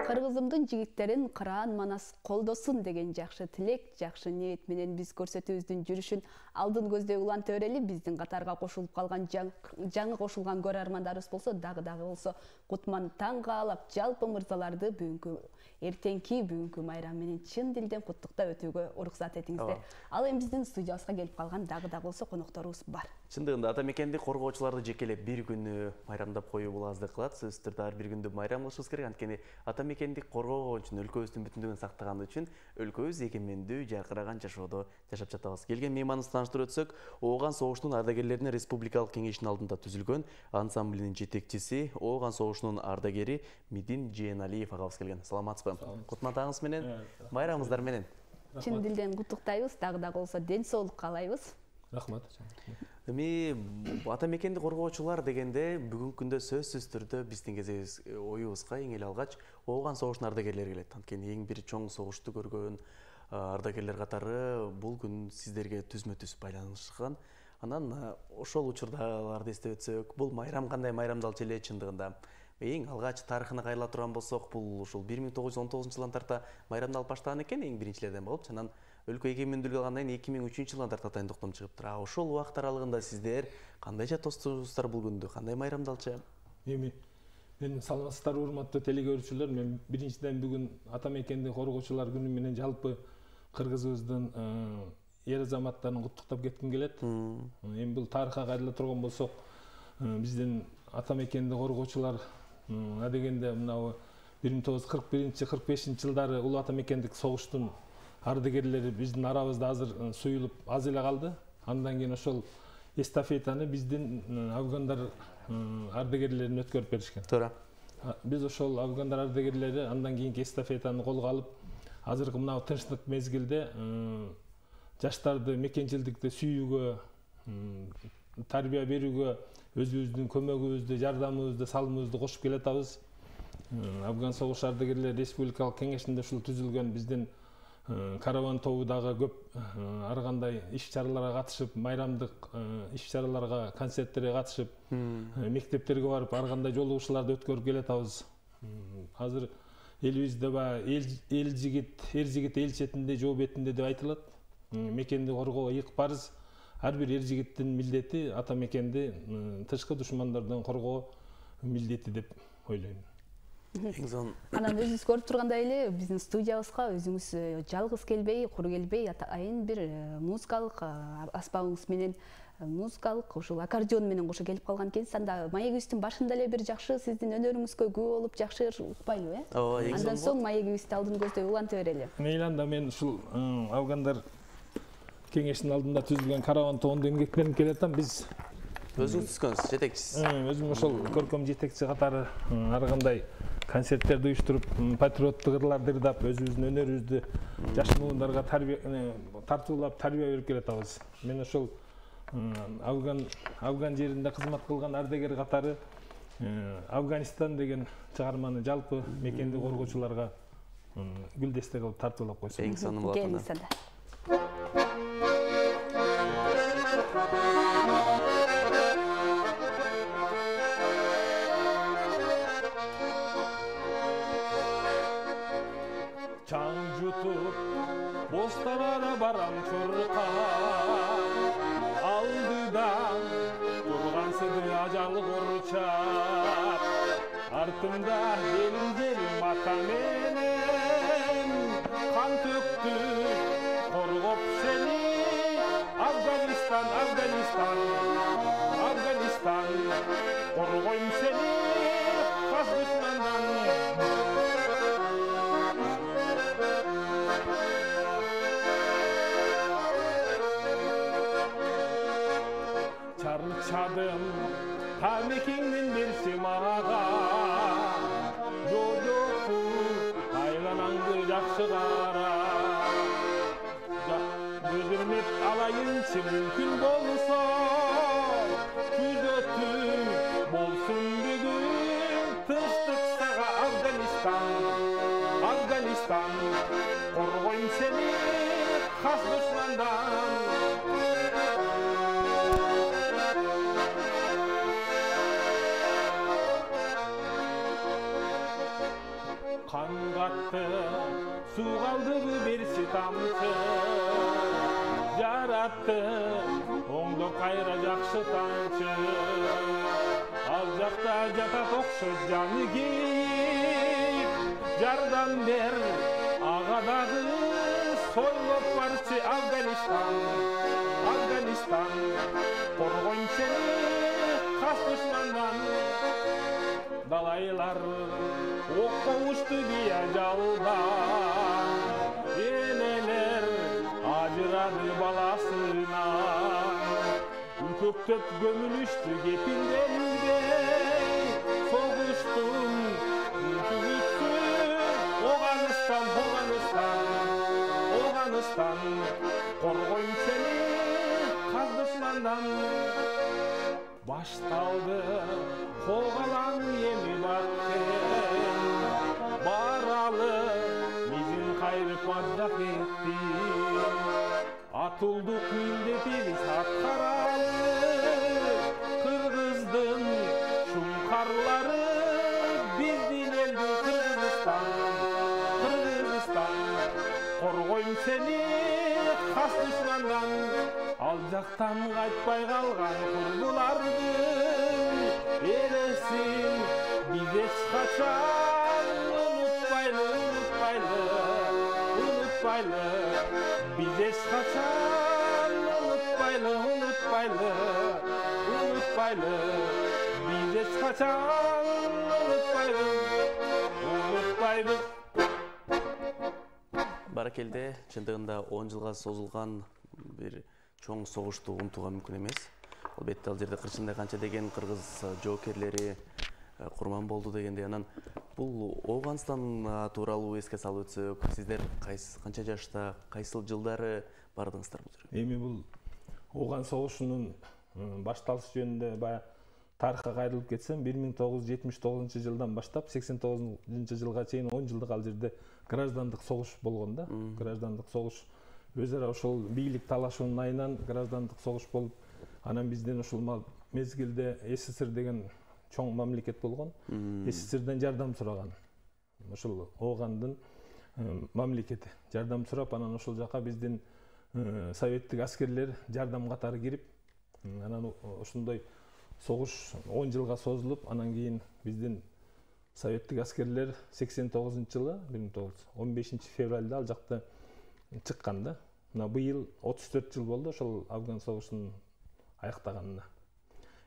Кыргызымдын жигиттерин кыраан манас колдосун деген жакшы тилек, жакшы ниет менен биз көрсөтүүбүздүн жүрүшүн алдын көздөй уланта берели. Биздин катарга кошулуп калган жаңы кошулган көрөрмандарыбыз болсо дагы болсо кутман таң каалап, жалпы мырзаларды бүгүнкү майрам менен чын дилден куттуктап өтүүгө уруксат этиңиздер. Ал эми биздин студиябызга келип калган дагы болсо конокторубуз бар. Чындыгында ата мекенди коргоочуларды жекелеп бир күнү майрамдап коюу бул аздык кылат. Сөзсүз түрдө ар бир күндү майрам кылышыбыз керек. Анткени ата мекенди коргогон үчүн, өлкөбүздүн бүтүндүгүн сактаган үчүн өлкөбүз эгемендүү, жаркыраган жашоодо жашап жатабыз. Келген мейманыбызды тааныштырып өтсөк, Ооган согушунун ардагерлеринин республикалык кеңешинин алдында түзүлгөн ансамблинин жетекчиси, Ооган согушунун ардагери Медин Жээналиев агабыз келген. Саламатсызбы? Кутман таңыңыз менен, майрамыңыздар менен. Чын дилден куттуктайбыз, дагы болсо ден соолук каалайбыз. Рахмат. Эми ата мекенди коргоочулар дегенде бүгүнкү күндө сөзсүз түрдө биздин кезегибиз оюбузга эң эле алгач Ооган согушунун ардагерлери келет. Анткени эң бир чоң согушту көргөн ардагерлер катары бул күн сиздерге түзмө-түз байланышкан. Анан ошол учурдагыларды эстеп өтсөк, бул майрам кандай майрамдалчу эле чындыгында? Эң алгач тарыхына кайрыла турган болсок, бул ушул 1919-жылдан тарта майрамдалып баштаган экен, эң биринчилерден болуп, анан өлкө эгемендүүлүк алгандан кийин 2003-жылдан тарта тайындыктан чыгыптыр. Ошол убакыт аралыгында сиздер кандайча тостубуздар бул күндү, кандай майрамдалчу? Эми мен саламатсыздарбы, урматтуу телекөрүүчүлөр. Мен биринчиден бүгүн ата мекенди коргоочулар күнү менен жалпы кыргызыбыздын эр азаматтарын куттуктап кетким келет. Эми бул тарыхка кайрыла турган болсок, биздин ата мекенди коргоочулар адегенде мынабу 1941-45-жылдары улуу ата мекендик согуштун ардагерлери биздин арабызда азыр суюлуп аз эле калды. Андан кийин ошол эстафетаны биздин афгандар ардагерлерин өткөрүп беришкен. Туура. Биз ошол афгандар ардагерлери андан кийинки эстафетаны колго алып, азыркы мына тынчтык мезгилде жаштарды мекенчилдикти сүйүүгө, тарбия берүүгө өзүбүздүн көмөгүбүздү, жардамыбызды, салымыбызды кошуп келатабыз. Афган согуш ардагерлер республикалык кеңешинде ушул түзүлгөн биздин караван тобу дагы көп ар кандай иш-чараларга катышып, майрамдык иш-чараларга, концерттерге катышып, мектептерге барып, ар кандай жолугушууларды өткөрүп келатабыз. Азыр элибизде эр жигит эл четинде, жоо бетинде деп айтылат. Мекенди коргоо ыйык парыз. Ар бир эр жигиттин милдети ата мекенди тышкы душмандардан коргоо милдети деп ойлойм. Анан өзүңүз көрүп тургандай эле биздин студиябызга өзүңүз жалгыз келбей, кур келбей, атайын бир музыкалык аспабыңыз менен, музыкалык ушул аккордеон менен кошо келип калган экенсиз. Анда маегибиздин башында эле бир жакшы сиздин өнөрүңүзгө күбө болуп жакшы укпайлыбы, э? Ооба, андан соң маегибизди алдын көздөй уланта берели. Мейли, анда мен ушул афгандар кеңешинин алдында түзүлгөн караван тобунда эмгектенип келатам. Биз өзүңүз түзгөнсүз, жетекчисиз. Өзүм ошол көркөм жетекчи катары ар кандай концерттерди уюштуруп, патриоттук ырларды ырдап, өзүбүздүн өнөрүбүздү жаш муундарга тартуулап, тарбия берип келатабыз. Мен ошол Афган жеринде кызмат кылган ардагер катары Афганистан деген чыгарманы жалпы мекенди коргоочуларга гүлдесте кылып тартуулап койсом. Эң сонун болот анда. Чаң жутуп, бостабада барам чурка, алдыда турган сыды ажал курчап, артымда элим жерим ата менен кан төктү, коргоп сени Афганистан, Афганистан, Афганистан, коргойм сени кас душмандан. Чарчадым, тамекеңден берси мага, жоо-жокпу, айланаңды жакшы кара. Көзүрмөп алайынчы мүмкүн болсо, күзөтүм болсун бүгүн. Тынчтык сага Афганистан, Афганистан, коргойм сени кас душмандан. кан катты суу калдыбы берчи тамчы жаратты оңдоп кайра жакшы тамчы ал жакта жатат окшойт жаны кейип жардам бер ага дагы сойлоп барчы Афганистан коргойм сени кас душмандан далайлар окко учту бия жалдан энелер ажырады баласынан көктөп көмүлүштү кепилденбей согуштун түгүсү Афганистан коргойм сени кас душмандан башталды когалан эми баттен баралы мизин кайрып мажак этти атылдык милдетибиз аткаралы кыргыздын шуңкарлары биздин элдин Кыргызстан коргойм сени кас душмандан ал жактан кайтпай калган курбулардын элесин биз эч качан унутпайлы биз эч качан унутпайлы биз эч качан унутпайбыз. Баракелде, чындыгында 10 жылга созулган бир чоң согушту унутууга мүмкүн эмес. Албетте ал жерде кырчындай канча деген кыргыз жоокерлери курман болду дегенде, анан бул Афганистан тууралуу эске салып өтсөк, сиздер канча жашта, кайсыл жылдары бардыңыздар бул жерге? Эми бул Афган согушунун башталышы жөнүндө баягы тарыхка кайрылып кетсем, 1979-жылдан баштап 89-жылга чейин 10 жылдык ал жерде граждандык согуш болгон да. Граждандык согуш өз ара ошол бийлик талашуунун айынан граждандык согуш болуп, анан бизден ушул мезгилде СССР деген чоң мамлекет болгон. СССРден жардам сураган. Ошол Афгандын мамлекети жардам сурап, анан ошол жака биздин советтик аскерлер жардам катары кирип, анан ошондой согуш 10 жылга созулуп, анан кийин биздин советтик аскерлер 89-жылы 15 февралда ал жакта чыккан да. Мына быйыл 34 жыл болду ошол Афган согушунун аяктаганына.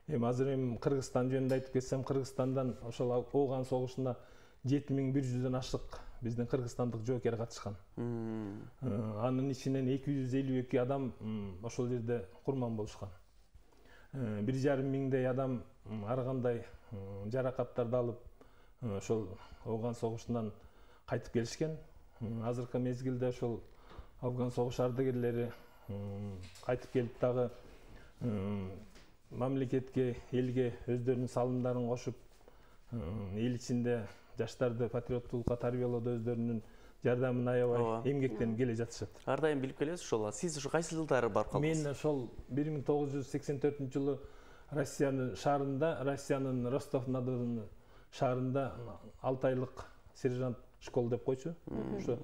Эми азыр Кыргызстан жөнүндө айтып кетсем, Кыргызстандан ошол Афган согушуна 7100дөн ашык биздин кыргызстандык жоокер катышкан. Анын ичинен 252 адам ошол жерде курман болушкан. 1,5 миңдей адам ар кандай жаракаттарды алып ошол Афган согушунан кайтып келишкен. Азыркы мезгилде ошол Афган согуш ардагерлери кайтып келип дагы мамлекетке, элге өздөрүнүн салымдарын кошуп, эл ичинде жаштарды патриоттуулукка тарбиялоодо өздөрүнүн жардамын аябай эмгектенип келе жатышат. Ар дайым билип келесиз ошол. Сиз ушу кайсы жылдары барып калдыңыз? Мен ошол 1984-жылы Россиянын Ростов-на-Дону шаарында 6 айлык сержант школ деп койчу. Ошо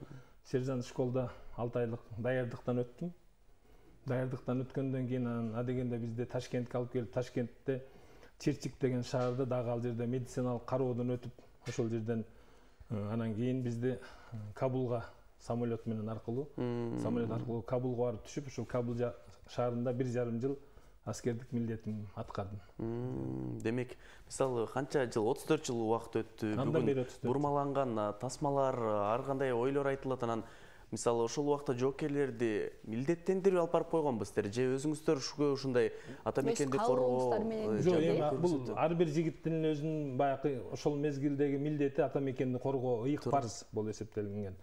сержант школда 6 айлык даярдыктан өттүм. Даярдыктан өткөндөн кийин адегенде бизди Ташкентке алып келип, Ташкентте Черчик деген шаарда дагы ал жерде медициналык кароодон өтүп, ошол жерден анан кийин бизди Кабулга самолет менен аркылуу Кабулга барып түшүп, ошол Кабул шаарында 1,5 жыл аскердик милдетин аткардым. Демек, мисалы канча жыл, 34 жыл убакыт өттү. Бүгүн бурмаланган тасмалар, ар кандай ойлор айтылат. Анан мисалы ошол убакта жоокерлерди милдеттендирип алып барып койгонбу сиздер же өзүңүздөр ушундай ата мекенди коргоо? Жок, эми бул ар бир жигиттин өзүнүн баягы ошол мезгилдеги милдети ата мекенди коргоо ыйык парыз болуп эсептелинген.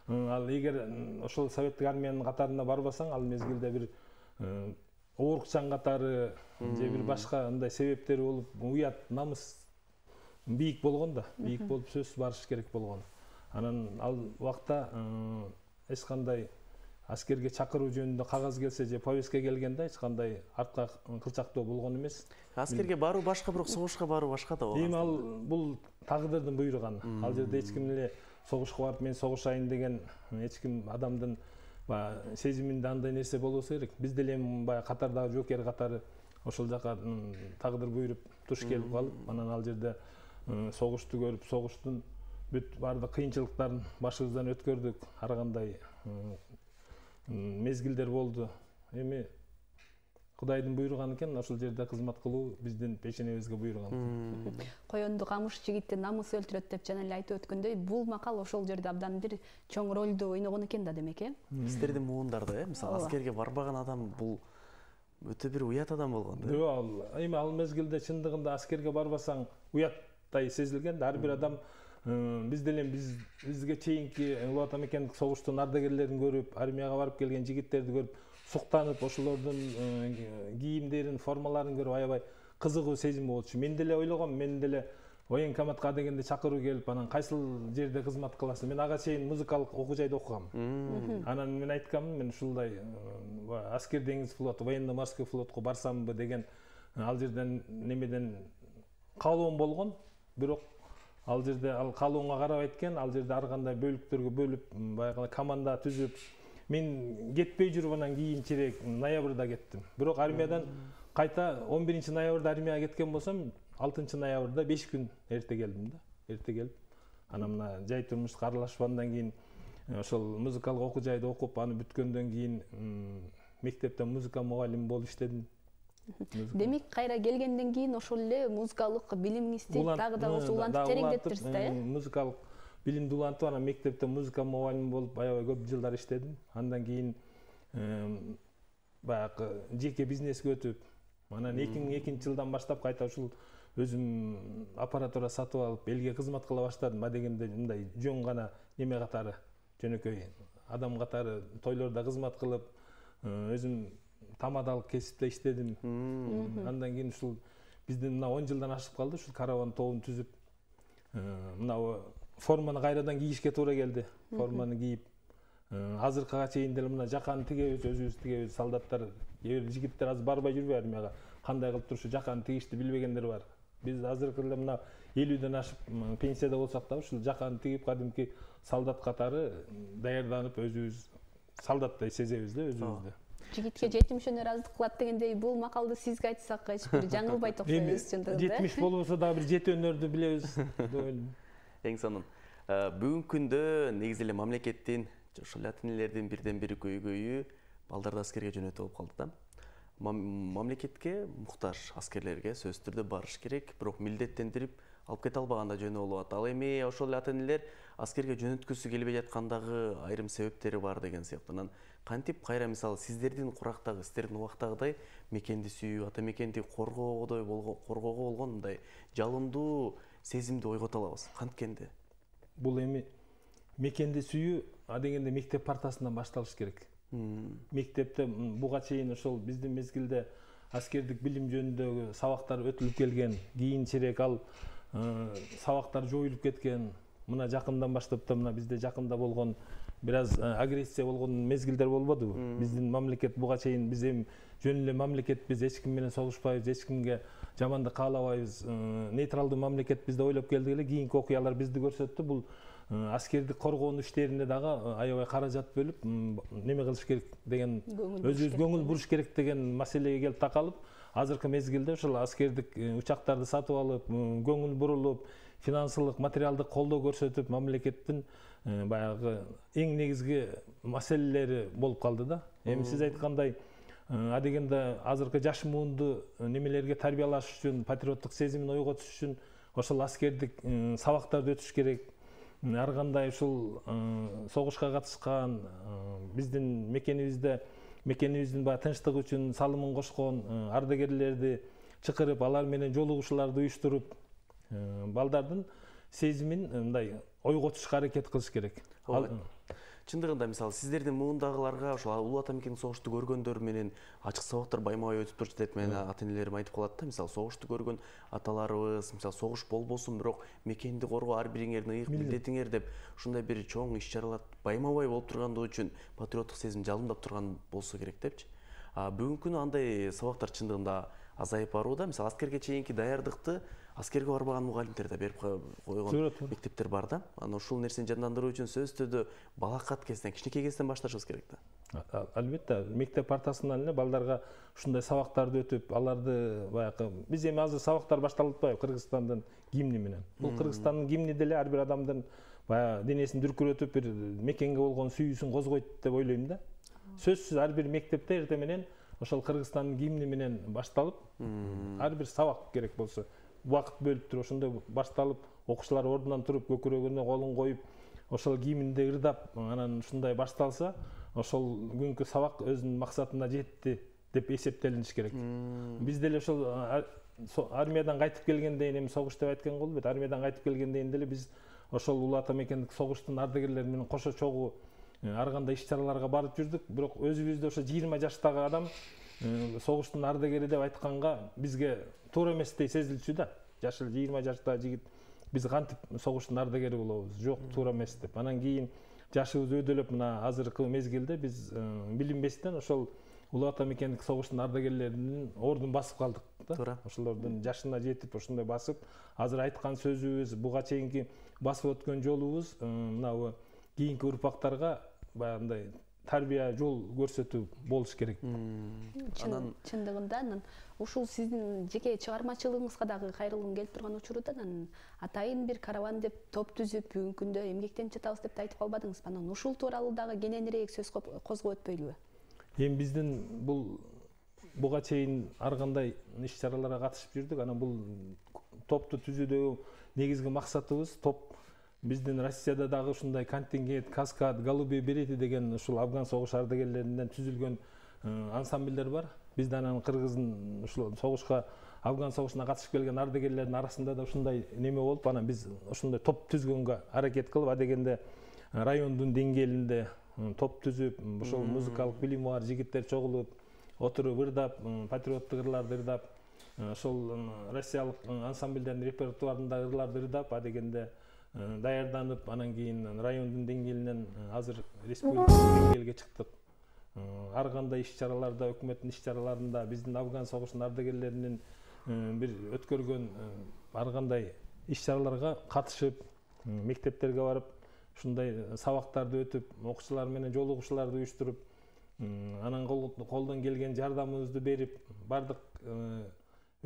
Ал эгер ошол советтик армиянын катарына барбасаң, ал мезгилде бир оорукчан катары же бир башка андай себептери болуп, уят, намыс бийик болгон да, бийик болуп сөзсүз барыш керек болгон. Анан ал убакта эч кандай аскерге чакыруу жөнүндө кагаз келсе же повестка келгенде эч кандай артка кылчактоо болгон эмес. Аскерге баруу башка, бирок согушка баруу башка да болгон. Эми ал бул тагдырдын буйруган. Ал жерде эч ким эле согушка барып мен согушайын деген эч ким адамдын баягы сезиминде андай нерсе болбосо керек. Биз деле баягы катардагы жоокер катары ошол жака тагдыр буйруп туш келип калып, анан ал жерде согушту көрүп, согуштун бүт баардык кыйынчылыктарын башыбыздан өткөрдүк. Ар кандай мезгилдер болду. Эми Кудайдын буйруганы экен, ошол жерде кызмат кылуу биздин пешенебизге буйруган. Коёнду камыш жигитти намыс өлтүрөт деп жана эле айтып өткөндөй, бул макал ошол жерде абдан бир чоң ролду ойногон экен да, демек, Сиздердин муундарда, мисалы аскерге барбаган адам бул өтө бир уят адам болгон да. Жок, эми ал мезгилде чындыгында аскерге барбасаң уяттай сезилген да. Ар бир адам биз деле бизге чейинки Улуу Ата Мекендик согуштун ардагерлерин көрүп, армияга барып келген жигиттерди көрүп, суктанып, ошолордун кийимдерин, формаларын көрүп аябай кызыгуу сезим болчу. Мен деле ойлогом, мен деле военкоматка дегенде чакыруу келип, анан кайсыл жерде кызмат кыласың? Мен ага чейин музыкалык окуу жайда окугам. Анан мен айткам, мен ушундай аскер деңиз флоту, военно-морской флотко барсамбы деген ал жерден немеден каалоом болгон. Бирок ал жерде ал каалооңо карабайт экен, ал жерде ар кандай бөлүктөргө бөлүп, баягы команда түзүп, мен кетпей жүрүп анан кийинчерээк ноябрда кеттим. Бирок армиядан кайта 11-ноябрда армияга кеткен болсом, 6-ноябрда 5 күн эрте келдим да. Эрте келип, анан мына жай турмушка аралашып, андан кийин ошол музыкалык окуу жайда окуп, аны бүткөндөн кийин мектепте музыка мугалими болуп иштедим. Демек, кайра келгенден кийин ошол эле музыкалык билимиңизди дагы да улантып тереңдеттирсиз да, Музыкалык билимди улантып, анан мектепте музыка мугалими болуп аябай көп жылдар иштедим. Андан кийин баягы жеке бизнеске өтүп, анан 2002 жылдан баштап кайта ушул өзүм аппаратура сатып алып, элге кызмат кыла баштадым. Дегенде мындай жөн гана неме катары, жөнөкөй адам катары тойлордо кызмат кылып, өзүм тамадалык кесипте иштедим. Андан кийин ушул биздин мына 10 жылдан ашып калды, ушул караван тобун түзүп, мына форманы кайрадан кийишке туура келди. Форманы кийип, азыркыга чейин деле мына жаканы тигебиз, өзүбүз тигебиз. Солдаттар, кээ бир жигиттер азыр барбай жүрбөй армияга. Кандай кылып турушу жаканы тигишти билбегендер бар. Биз азыркы эле мына 50ден ашып пенсияда болсак да, ушул жаканы тигип, кадимки солдат катары даярданып, өзүбүз солдаттай сезебиз да өзүбүздү. Жигитке жетимиш ыраазылык кылат дегендей, бул макалды сизге айтсак эч бир жаңылбайт окшойбуз чындыгында. 70 болбосо дагы бир 7 өнөрдү билебиз. Эң сонун. Бүгүнкү күндө негизи эле мамлекеттин, ошол ата энелердин бирден бир көйгөйү балдарды аскерге жөнөтүү болуп калды да. Мамлекетке муктаж аскерлерге сөзсүз түрдө барыш керек, бирок милдеттендирип алып кете албаганда жөнү болот. Ал эми ошол ата энелер аскерге жөнөткүсү келбей жаткандагы айрым себептери бар деген сыяктуу. Кантип кайра мисалы сиздердин курактагы, сиздердин убактагыдай мекенди сүйүү, ата мекенди коргоого болгон мындай жалындуу сезимди ойгото алабыз? Канткенде? Бул эми мекенди сүйүү адегенде мектеп партасынан башталыш керек. Мектепте буга чейин ошол биздин мезгилде аскердик билим жөнүндөгү сабактар өтүлүп келген, кийинчерээк ал сабактар жоюлуп кеткен. Мына жакындан баштап да мына бизде жакында болгон бир аз агрессия болгон мезгилдер болбодубу? Биздин мамлекет буга чейин биз эми жөн эле мамлекетпиз, эч ким менен согушпайбыз, эч кимге жамандык каалабайбыз, нейтралдуу мамлекетпиз деп ойлоп келдик эле. Кийинки окуялар бизди көрсөттү. Бул аскердик коргоонуу иштерине дагы аябай каражат бөлүп, неме кылыш керек деген, өзүбүз көңүл буруш керек деген маселеге келип такалып, азыркы мезгилде ошол аскердик учактарды сатып алып, көңүл бурулуп, финансылык, материалдык колдоо көрсөтүп, мамлекеттин баягы эң негизги маселелери болуп калды да. Эми сиз айткандай, адегенде азыркы жаш муунду немелерге тарбиялаш үчүн, патриоттук сезимин ойготуш үчүн ошол аскердик сабактарды өтүш керек. Ар кандай ушул согушка катышкан, биздин мекенибиздин баягы тынчтык үчүн салымын кошкон ардагерлерди чакырып, алар менен жолугушууларды уюштуруп, балдардын сезимин мындай ойготушка аракет кылыш керек. Чындыгында мисалы сиздердин муундагыларга ошол Улуу Ата Мекендик согушту көргөндөр менен ачык сабактар байма-бай өтүп турчу деп менин ата энелерим айтып калат да. Мисалы согушту көргөн аталарыбыз, мисалы согуш болбосун, бирок мекенди коргоо ар бириңердин ыйык милдетиңер деп ушундай бир чоң иш-чаралар байма-бай болуп тургандыгы үчүн патриоттук сезим жалындап турган болсо керек депчи. Бүгүнкү күнү андай сабактар чындыгында азайып барууда. Мисалы аскерге чейинки даярдыкты аскерге барбаган мугалимдер да берип койгон мектептер бар да. Анан ушул нерсени жандандыруу үчүн сөзсүз түрдө балакат кезинен, кичинекей кезден башташыбыз керек да. Албетте, мектеп партасынан эле балдарга ушундай сабактарды өтүп, аларды баягы биз эми азыр сабактар башталып атпайбы Кыргызстандын гимни менен. Бул Кыргызстандын гимни деле ар бир адамдын баягы денесин дүркүрөтүп, бир мекенге болгон сүйүүсүн козгойт деп ойлойм да. Сөзсүз ар бир мектепте эртең менен ошол Кыргызстандын гимни менен башталып, ар бир сабак керек болсо убакыт бөлүп туруп ошондой башталып, окуучулар ордунан туруп, көкүрөгүнө колун коюп, ошол гимнди ырдап, анан ушундай башталса, ошол күнкү сабак өзүнүн максатына жетти деп эсептелиниш керек. Биз деле ошол армиядан кайтып келгенден эми согуш деп айткан болбойт. Армиядан кайтып келгенден деле биз ошол улуу ата мекендик согуштун ардагерлери менен кошо чогуу ар кандай иш-чараларга барып жүрдүк. Бирок өзүбүздү ошо 20 жаштагы адам согуштун ардагери деп айтканга бизге туура эместей сезилчү да. Жашы 20 жаштагы жигит биз кантип согуштун ардагери болобуз? Жок, туура эмес деп. Анан кийин жашыбыз өйдөлөп, мына азыркы мезгилде биз билинбестен ошол улуу ата мекендик согуштун ардагерлеринин ордун басып калдык да. Туура. Ошолордун жашына жетип, ошондой басып, азыр айткан сөзүбүз, буга чейинки басып өткөн жолубуз мына кийинки урпактарга баягындай тарбия жол көрсөтүү болуш керек. Чындыгында анан ушул сиздин жеке чыгармачылыгыңызга дагы кайрылгым келип турган учурда анан атайын бир караван деп топ түзүп бүгүнкү күндө эмгектенип жатабыз деп айтып калбадыңызбы? Анан ушул тууралуу дагы кененирээк сөз козгоп өтпөйлүбү? Эми биздин буга чейин ар кандай иш-чараларга катышып жүрдүк. Анан бул топту түзүүдөгү негизги максатыбыз биздин Россияда дагы ушундай контингент, каскад, голубые берети деген ушул Афган согуш ардагерлеринен түзүлгөн ансамбльдер бар. Бизде анан Кыргыздын ушул согушка, Афган согушуна катышып келген ардагерлердин арасында да ушундай неме болуп, анан биз ушундай топ түзгөнгө аракет кылып, адегенде райондун деңгээлинде топ түзүп, ошол музыкалык билими бар жигиттер чогулуп, отуруп ырдап, патриоттук ырларды ырдап, ошол россиялык ансамбльдердин репертуарында ырларды ырдап, адегенде даярданып, анан кийин райондун деңгээлинен азыр республикалык деңгээлге чыктык. Ар кандай иш-чараларда, өкмөттүн иш-чараларында биздин Афган согушунун ардагерлеринин бир өткөргөн ар кандай иш-чараларга катышып, мектептерге барып, ушундай сабактарды өтүп, окуучулар менен жолугушууларды уюштуруп, анан колдон келген жардамыбызды берип, бардык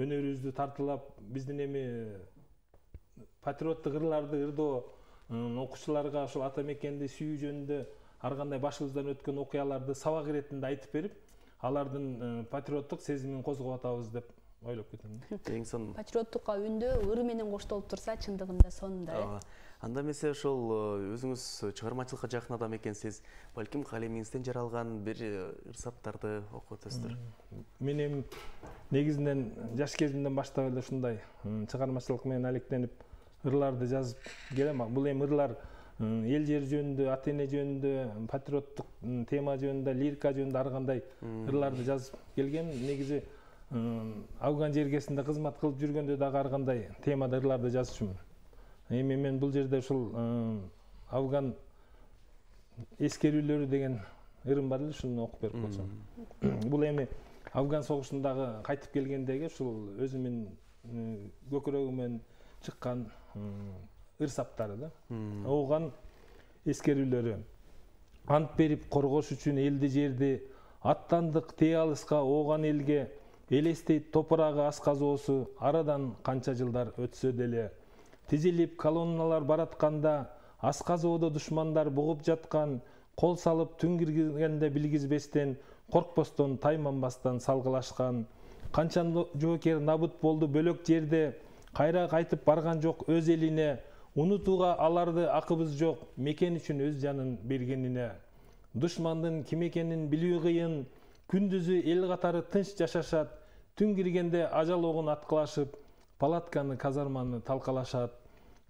өнөрүбүздү тартуулап, биздин эми патриоттук ырларды ырдоо, окуучуларга ошол ата мекенди сүйүү жөнүндө ар кандай башыбыздан өткөн окуяларды сабак иретинде айтып берип, алардын патриоттук сезимин козгоп атабыз деп ойлоп кетем. Эң сонун. Патриоттукка үндөө ыры менен коштолуп турса, чындыгында сонунда. Анда эмесе ошол өзүңүз чыгармачылыкка жакын адам экенсиз, балким калемиңизден жаралган бир ырсаптарды окуп өтөсүздөр. Мен эми негизинен жаш кезимден баштап эле ушундай чыгармачылык менен алектенип ырларды жазып келем. Бул эми ырлар эл жер жөнүндө, ата эне жөнүндө, патриоттук тема жөнүндө, лирика жөнүндө ар кандай ырларды жазып келгем. Негизи Афган жергесинде кызмат кылып жүргөндө дагы ар кандай темада ырларды жазчумун. Эми мен бул жерде ушул Афган эскерүүлөрү деген ырым бар эле, ушуну окуп берип койсом. Бул эми Афган согушундагы кайтып келгендеги ушул өзүмүн көкүрөгүмөн чыккан ырсаптары да. Ооган эскерүүлөрү. Ант берип коргош үчүн элди жерди, аттандык тээ алыска ооган элге, элестейт топурагы асказоосу, арадан канча жылдар өтсө деле. Тизилип колонналар баратканда, асказоодо душмандар бугуп жаткан, кол салып түн киргизгенде билгизбестен, коркпостон тайманбастан салгылашкан. Канча жоокер набыт болду бөлөк жерде, кайра кайтып барган жок өз элине, унутууга аларды акыбыз жок, мекен үчүн өз жанын бергенине. Душмандын ким экенин билүү кыйын, күндүзү эл катары тынч жашашат, түн киргенде ажал огун аткылашып, палатканы казарманы талкалашат.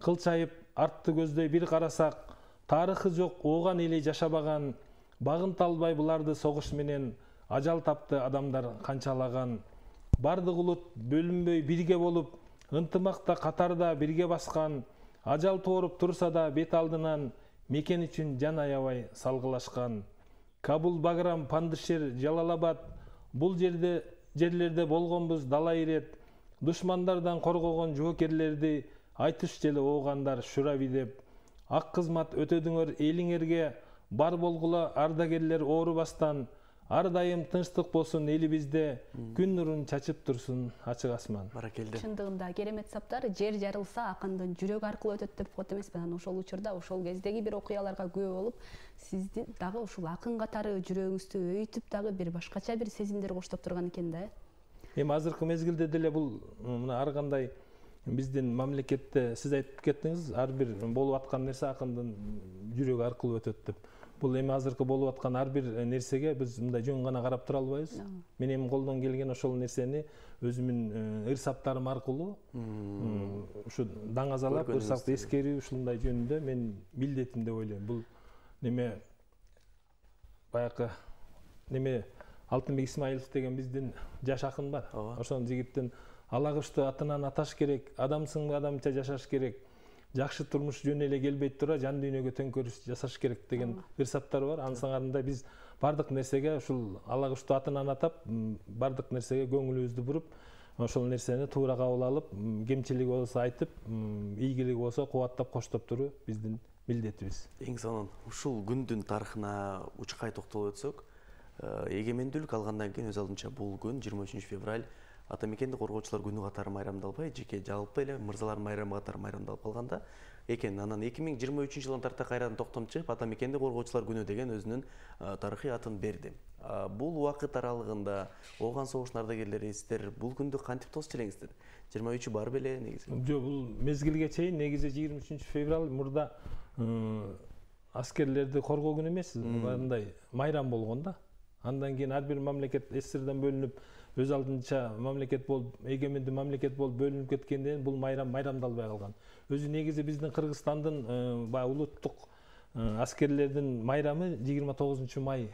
Кылчайып артты көздөй бир карасак, тарыхы жок ооган эли жашабаган, багынта албай буларды согуш менен ажал тапты адамдар канчалаган. Бардык улут бөлүнбөй бирге болуп, ынтымакта катарда бирге баскан, ажал тооруп турса да бет алдынан, мекен үчүн жан аябай салгылашкан. Кабул, Баграм, Пандышер, Жалалабад, бул жерлерде болгонбуз дала ирет, душмандардан коргогон жоокерлерди айтыш желе оогандар шураби деп, ак кызмат өтөдүңөр элиңерге, бар болгула ардагерлер оорубастан, ар дайым тынчтык болсун элибизде, күн нурун чачып турсун ачык асман. Баракелде. Чындыгында керемет саптар, жер жарылса акындын жүрөгү аркылуу өтөт деп коет эмесмин. Анан ошол учурда, ошол кездеги бир окуяларга күбө болуп, сизди дагы ушул акын катары жүрөгүңүздү өйтүп дагы бир башкача бир сезимдер коштоп турган экен да. Эми азыркы мезгилде деле бул мына ар кандай биздин мамлекетте сиз айтып кеттиңиз, ар бир болуп аткан нерсе акындын жүрөгү аркылуу өтөт деп. Бул эми азыркы болуп аткан ар бир нерсеге биз мындай жөн гана карап тура албайбыз. Мен эми колдон келген ошол нерсени өзүмдүн ырсаптарым аркылуу ушу даңазалап, ырсакты эскерүү ушундай жөнүндө мен милдетим деп ойлойм. Бул неме баягы неме Алтынбек Исмаилов деген биздин жаш акын бар. Ошол жигиттин алагыштуу атынан аташ керек, адамсың адамча жашаш керек, жакшы турмуш жөн эле келбей тура жан дүйнөгө төңкөрүш жасаш керек деген ырсаптар бар. Анын сыңарында биз бардык нерсеге ушул алагыштуу атынан атап, бардык нерсеге көңүлүбүздү буруп, ошол нерсени туура кабыл алып, кемчилиги болсо айтып, ийгилиги болсо кубаттап коштоп туруу биздин милдетибиз. Эң сонун ушул күндүн тарыхына учкай токтолуп өтсөк, эгемендүүлүк алгандан кийин өз алдынча бул күн 23 февраль ата мекенди коргоочулар күнү катары майрамдалбай, жеке жалпы эле мырзалар майрамы катары майрамдалып калганда экен. Анан 2023 жылдан тарта кайрадан токтом чыгып ата мекенди коргоочулар күнү деген өзүнүн тарыхый атын берди. Бул убакыт аралыгында ооган согуштун ардагерлери сиздер бул күндү кантип тосуп элеңиздер? 23 бар беле негизи? Жок, бул мезгилге чейин негизи 23 февраль мурда аскерлерди коргоо күнү эмес, мындай майрам болгон да. Андан кийин ар бир мамлекет СССРдан бөлүнүп, өз алдынча мамлекет болуп, эгемендүү мамлекет болуп бөлүнүп кеткенден бул майрамдалбай калган. Өзү негизи биздин Кыргызстандын баягы улуттук аскерлердин майрамы 29 май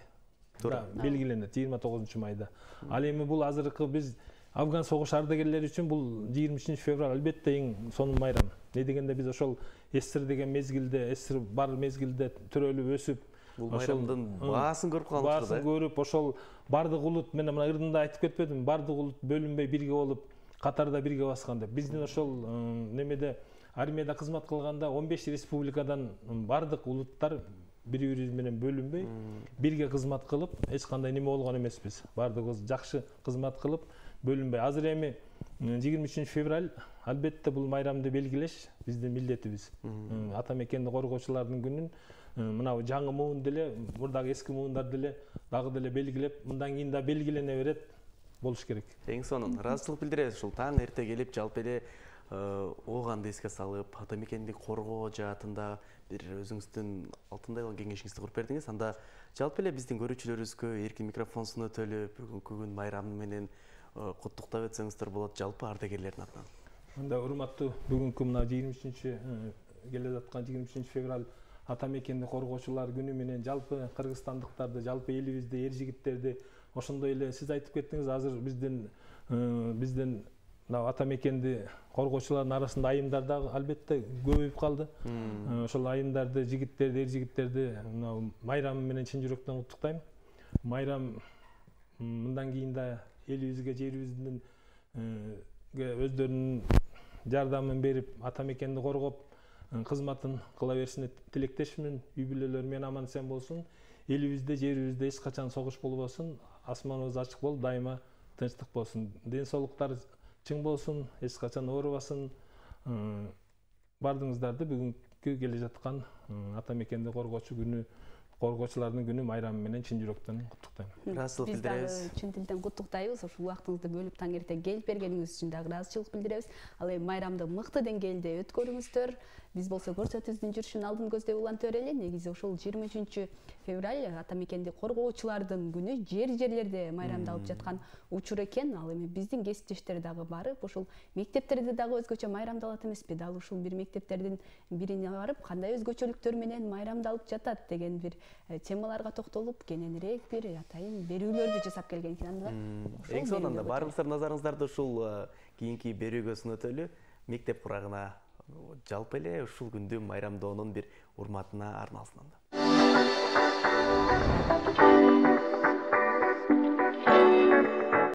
белгиленет, 29 майда. Ал эми бул азыркы биз Афган согуш ардагерлери үчүн бул 23 февраль албетте эң сонун майрам. Не дегенде биз ошол СССР деген мезгилде, СССР бар мезгилде төрөлүп өсүп, бул майрамдын баасын көрүп калдык да. Баасын көрүп, ошол бардык улут, мен мына ырдында айтып кетпедим, бардык улут бөлүнбөй бирге болуп, катарда бирге баскан деп. Биздин ошол немеде армияда кызмат кылганда 15 республикадан бардык улуттар бири-бирибиз менен бөлүнбөй, бирге кызмат кылып, эч кандай неме болгон эмеспиз. Бардыгыбыз жакшы кызмат кылып, бөлүнбөй. Азыр эми 23 февраль албетте бул майрамды белгилеш биздин милдетибиз. Ата мекенди коргоочулардын күнүн мына жаңы муун деле, мурдагы эски муундар деле дагы деле белгилеп, мындан кийин да белгилене берет болуш керек. Эң сонун ыраазычылык билдиребиз. Ушул таң эрте келип, жалпы эле ооганды эске салып, ата мекенди коргоо жаатында бир өзүңүздүн алтындай кеңешиңизди куруп бердиңиз. Анда жалпы эле биздин көрүүчүлөрүбүзгө эркин микрофон сунуп өтөлүп, бүгүнкү күн майрамы менен куттуктап өтсөңүздөр болот жалпы ардагерлердин атынан. Анда урматтуу бүгүнкү мына 23 келе жаткан 23 февраль ата мекенди коргоочулар күнү менен жалпы кыргызстандыктарды, жалпы элибизди, эр жигиттерди, ошондой эле сиз айтып кеттиңиз, азыр биздин ата мекенди коргоочулардын арасында айымдар да албетте көбөйүп калды. Ошол айымдарды, жигиттерди, эр жигиттерди майрамы менен чын жүрөктөн куттуктайм. Майрам мындан кийин да элибизге, жерибиздин өздөрүнүн жардамын берип, ата мекенди коргоп, кызматын кыла беришине тилектешмин. Үй бүлөлөр менен аман эсен болсун. Элибизде, жерибизде эч качан согуш болбосун. Асманыбыз ачык болуп, дайыма тынчтык болсун. Ден соолуктар чың болсун, эч качан оорубасын. Бардыгыңыздарды бүгүнкү келе жаткан ата мекенди коргоочу күнү, коргоочулардын күнү майрамы менен чын жүрөктөн куттуктайм. Ыраазычылык билдиребиз. Биз дагы чын тилден куттуктайбыз. Ушул убактыңызды бөлүп таң эрте келип бергениңиз үчүн дагы ыраазычылык билдиребиз. Ал эми майрамды мыкты деңгээлде өткөрүңүздөр. Биз болсо көрсөтүүбүздүн жүрүшүн алдын көздөй улантып берели. Негизи ушул 23 февраль ата мекенди коргоочулардын күнү жерлерде майрамдалып жаткан учур экен. Ал эми биздин кесиптештер дагы барып, ушул мектептерде дагы өзгөчө майрамдалат эмеспи? Дал ушул бир мектептердин бирине барып, кандай өзгөчөлүктөр менен майрамдалып жатат деген бир темаларга токтолуп, кененирээк бир атайын берүүлөрдү жасап келген экен. Эң сонун, баарыңыздар назарыңыздарды ушул кийинки берүүгө сунуп өтөлү. Мектеп курагына жалпы эле ушул күндү майрамдоонун бир урматына арналсын анда.